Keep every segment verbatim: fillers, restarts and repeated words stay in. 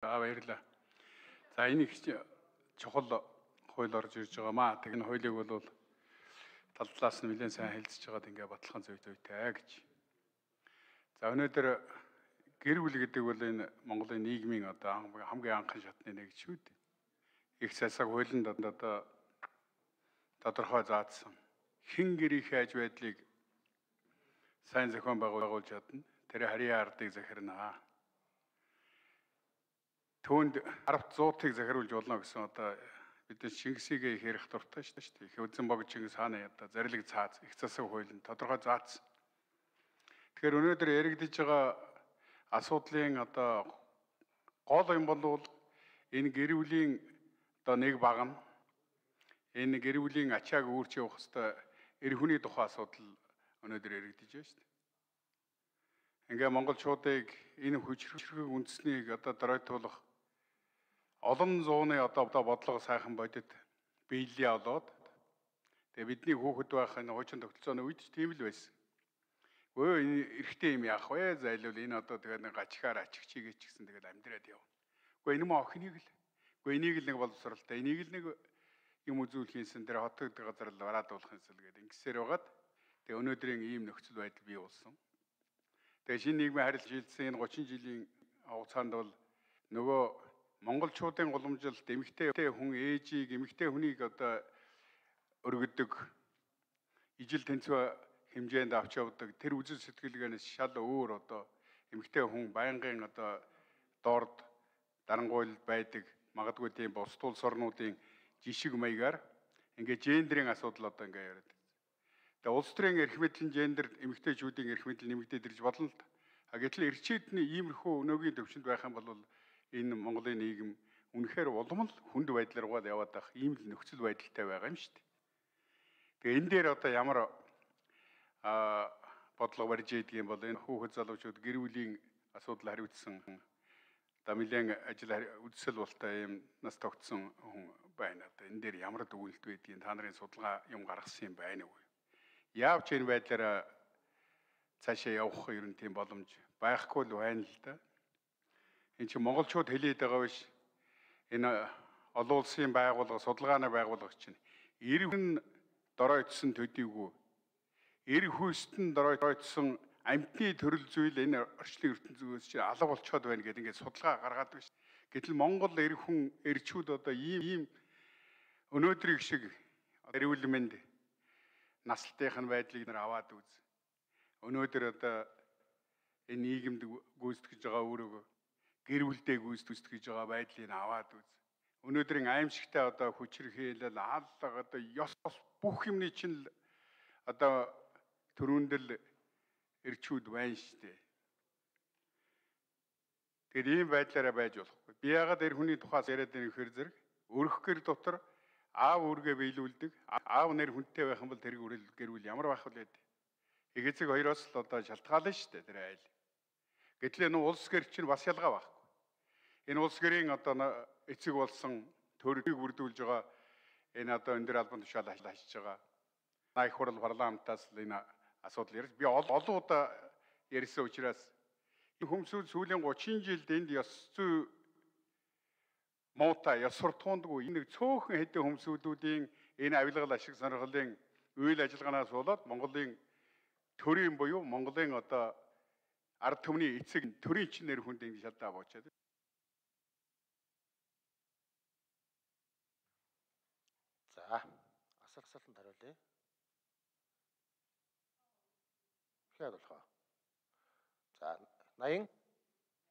За баярлалаа. За энэ их чухал хууль орж ирж байгаа маа. Тэг энэ хуулийг бол тал талаас нь нэлээд сайн хэлцэж байгаад ингээ баталгаан зүй зүйтэй гэж. За өнөөдөр гэр бүл гэдэг бол энэ Монголын нийгмийн одоо хамгийн анхан шатны нэг шүү дээ. Их засаг хуулинд одоо тодорхой заасан хэн гэрийн хайж байдлыг сайн зохион байгуулж чадна. Тэр харийн ардыг захирнаа. Түүнд арав зуутыг захируулж болно гэсэн одоо бид Чингисийг их ярих дуртай шүү дээ. Их үзэн бог Чингис хааны одоо зарлиг цааз их засаг хуулинд тодорхой заасан. Тэгэхээр өнөөдөр яригдж байгаа асуудлын одоо гол юм бол энэ гэр бүлийн одоо нэг баг нь энэ гэр бүлийн ачааг үүрч явах хэвээр эр хүний тухай асуудал өнөөдөр яригдж байна шүү дээ. Ингээ монголчуудыг энэ хүчрхэг үндэснийг одоо доройтуулах олон зууны одоо бодлого сайхан бодит биелээ олоод тэгээ бидний хүүхэд байх энэ хуучин тогтолцооны үед тийм л байсан. Өө энэ эрэгтэй юм яах вэ? Зайлвал энэ одоо тэгээд нэг гачгаар ачигчигээ ч гэсэн тэгээд амьдраад яв. Уу энэ мөн охиныг л. Уу энийг л нэг боловсралтай. Энийг л нэг юм үзүүлэхийнсэн тэр хотод газар л бараад уулах юмсэл гэдэг ингэсээр байгаад тэгээ өнөөдрийн ийм нөхцөл байдал бий болсон. Тэгээ шинэ нийгмийн харилцаа шилжсэн энэ гучин жилийн хугацаанд бол нөгөө монголчуудын уламжилт эмэгтэй хүн ээжийг эмэгтэй хүнийг одоо өргөдөг ижил тэнцвэ хэмжээнд авч явдаг тэр үзэл сэтгэлгээнээс шал өөр одоо эмэгтэй хүн байнгын одоо доорд дарангуйл байдаг магадгүй тийм бус улс орнуудын жишг маягаар ингээд гендерийн асуудал одоо ингээд яриад. Тэгээ улс төрийн эрх мэдлийн гендер эмэгтэйчүүдийн эрх мэдэл нэмэгдээд ирж болно л та. А гэтэл эрчүүдний иймэрхүү өнөөгийн төвшөнд байх юм бол энэ Монголын нийгэм үнэхээр улам л хүнд байдлаар гол яваад байх ийм л нөхцөл байдалтай байгаа юм шүү дээ. Тэгээ энэ дээр одоо ямар а бодлого барьж ийдэг юм бол энэ хүүхэд залуучууд гэр бүлийн асуудал хариуцсан одоо нэлээд ажил үдсэл болтой юм нас тогтсон хүн байна. Одоо энэ дээр ямар дүгнэлт байдгийг та нарын судалгаа юм гаргасан юм байна уу? Яавч энэ байдлаараа цаашаа явах ер нь тийм боломж байхгүй л байна л да. Энэ чинь монголчууд хэлээд байгаа биш. Энэ олон улсын байгууллага, судалгааны байгууллага чинь эр хүн доройтсон төдийгүй эр хүйстэн доройтсон амьтны төрөл зүйл энэ орчлын ертөнцөөс чинь алга болчиход байна гэдэг ингээд судалгаа гаргаад байна. Гэтэл Монгол эр хүн эрчүүд одоо ийм ийм өнөөдрийг шиг эрүүл мэнд наслтынхын байдлыг нэр аваад үз. Өнөөдөр одоо энэ нийгэмд гүйцэтгэж байгаа өөрөөгөө гэр бүлдээ гүйцэтгэж байгаа байдлыг аваад үз. Өнөөдрийн аимшигтай одоо хүчирхийлэл хааллага одоо ёс бүх юмны чинь одоо төрөндөл эрчүүд байна шүү дээ. Тэгэхээр ийм байдлаараа байж болохгүй. Би яагаад эр хүний тухай яриад байгаа нөхөр зэрэг өрх гэр дотор аав үргээ биелүүлдэг. Аав нэр хүнтэй байх юм бол тэр гэр бүл ямар байх вэ? Эгэцэг хоёроос л одоо шалтгаална шүү дээ тэр айл. Гэтэл энэ улс гэр чинь бас ялгаа байхгүй. Энэ улс гэрийн одоо эцэг болсон төрөлийг бүрдүүлж байгаа энэ одоо энэ дэр албан тушаал ажиллаж байгаа. Их хурал парламентаас л энэ асуудал ярьж би олон удаа ярьсан учраас хүмүүсүүд сүүлийн гучин жилд энд ёс зүй муутай ёс суртахуундгүй энэ цөөхөн хэдэн хүмүүсүүдийн энэ авилгал ашиг сонирхлын үйл ажиллагаанаас болоод Монголын төрийн буюу Монголын одоо ард түмний эцэг төрийн чин нэр хүнд ингэ шалдаа боочаад. За асар асуултанд хариулъя. Хэд болох вэ? За наян.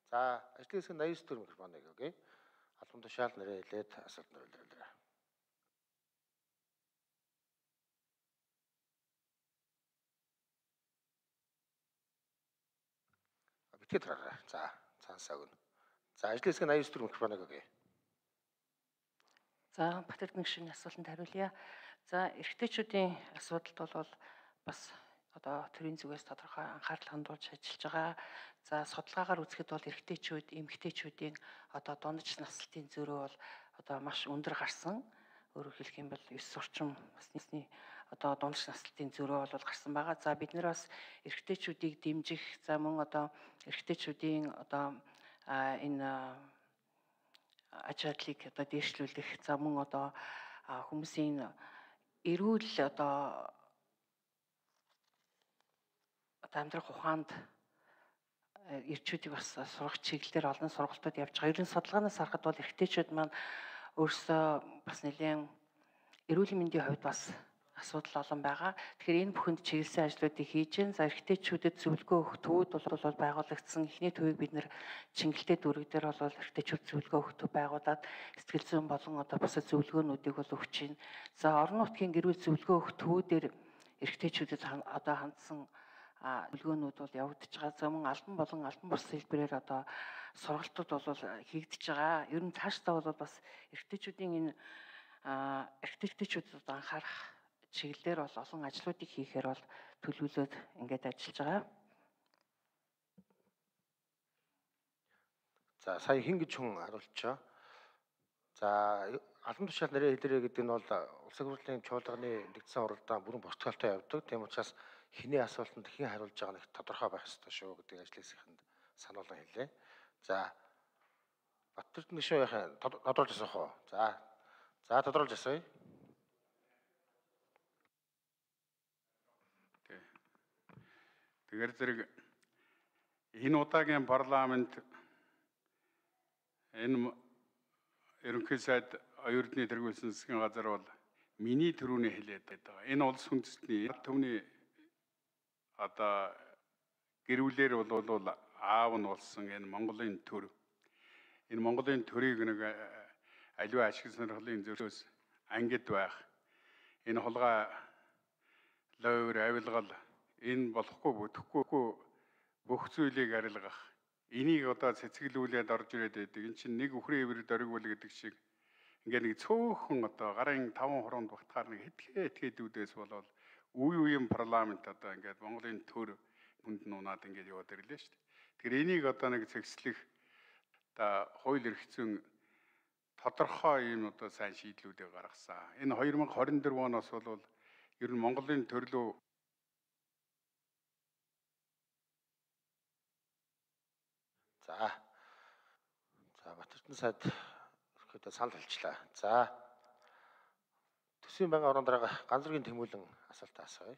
За ажлын хэсэг наян төр микрофоныг өгье. Албан тушаал нэрээ хэлээд асуулт хариулъя. Битгий тараа. За цаасаа өгнө. За ажлын хэсэг наян төр микрофоныг өгье. За Батэрд мэгшийн асуултанд хариулъя. За эрэгтэйчүүдийн асуудалд бол бас одоо төрийн зүгээс тодорхой анхаарал хандуулж ажиллаж байгаа. За судалгаагаар үзэхэд бол эрэгтэйчүүд, эмэгтэйчүүдийн одоо дундаж наслтын зөрүү бол одоо маш өндөр гарсан. Өөрөөр хэлэх юм бол ёс сурчим басны одоо дундаж наслтын зөрүү бол гарсан байгаа. За бид нэр бас эрэгтэйчүүдийг дэмжих, за мөн одоо эрэгтэйчүүдийн одоо энэ аж аргалыг одоо дээшлүүлэх, за мөн одоо хүмүүсийн эрүүл одоо амьдрах ухаанд эрчүүдийг бас сурах чиглэлээр олон сургалтууд явж байгаа. Ерөн судалгаанаас харахад бол эрэгтэйчүүд маань өөрсдөө бас нэлээд эрүүл мэндийн хувьд бас асуудал олон байгаа. Тэгэхээр энэ бүхэнд чиглэсэн ажлуудыг хийж гэн. За эрэгтэйчүүдэд зөвлөгөө өгөх төвүүд бол байгуулагдсан. Эхний төвийг бид нэр Чингэлтэй дүүрэг дээр бол эрэгтэйчүүд зөвлөгөө өгөх төв байгуулад сэтгэл зүйн болон одоо бусад зөвлөгөөнүүдийг бол өгч байна. За орон нутгийн гэр бүл зөвлөгөө өгөх төвүүдээр эрэгтэйчүүдэд одоо хандсан зөвлөгөөнүүд бол явагдаж байгаа. За мөн албан болон албан бус хэлбэрээр одоо сургалтууд бол хийгдэж байгаа. Ер нь цаашдаа бол бас эрэгтэйчүүдийн энэ эрэгтэйчүүдэд анхаарах чиглэлээр бол олон ажлуудыг хийхээр бол төлөвлөлөөд ингээд ажиллаж байгаа. За сая хин гэж хүн харуулчаа. За албан тушаал нэрээ хэлээрэй гэдэг нь бол улсын хурлын чуулганы нэгдсэн уралдаан бүрэн протоколтой явдаг. Тийм учраас хиний асуултанд хэн хариулж байгаа нь тодорхой байх ёстой шүү гэдэг ажлын хэсгэнд сануулга хэлээ. За Баттэрд нэг шүү яхаа тодорхойлж асуух уу? За. За тодорхойлж асууя. Тэгэхээр зэрэг энэ удаагийн парламент энэ ерөнхий сайд оюутны тэргүүлсэн засгийн газар бол миний төрөний хэлээд байгаа. Энэ улс үндэстний төвний одоо гэрүүлэр бол аав нь болсон энэ Монголын төр. Энэ Монголын төрийг нэг аливаа ашиг сонирхлын зөрчөөс ангид байх. Энэ хулгай лойр авилгал энэ болохгүй бүтэхгүй бүх зүйлийг арилгах. Энийг одоо цэцгэлүүлээд орж ирээд байдаг. Энэ чинь нэг үхрийн ивэр дөргивөл гэдэг шиг ингээд нэг цөөхөн одоо гарын таван хуруунд багтахаар нэг хэтгэ этгээдүүдээс болол үе үеийн парламент одоо ингээд Монголын төр хүнд нунаад ингээд яваад ирлээ шүү дээ. Тэгэхээр энийг одоо нэг цэгцлэх одоо хууль эрх зүйн тодорхой юм одоо сайн шийдлүүдийг гаргасан. Энэ хоёр мянга хорин дөрөв оноос бол ер нь Монголын төрлөө За. За Батэрдэн сайд ихэд санал хэлчлээ. За. Төсвийн байнгын орон дараагаа ганц зэргийн тэмүүлэн асуултаа асууя.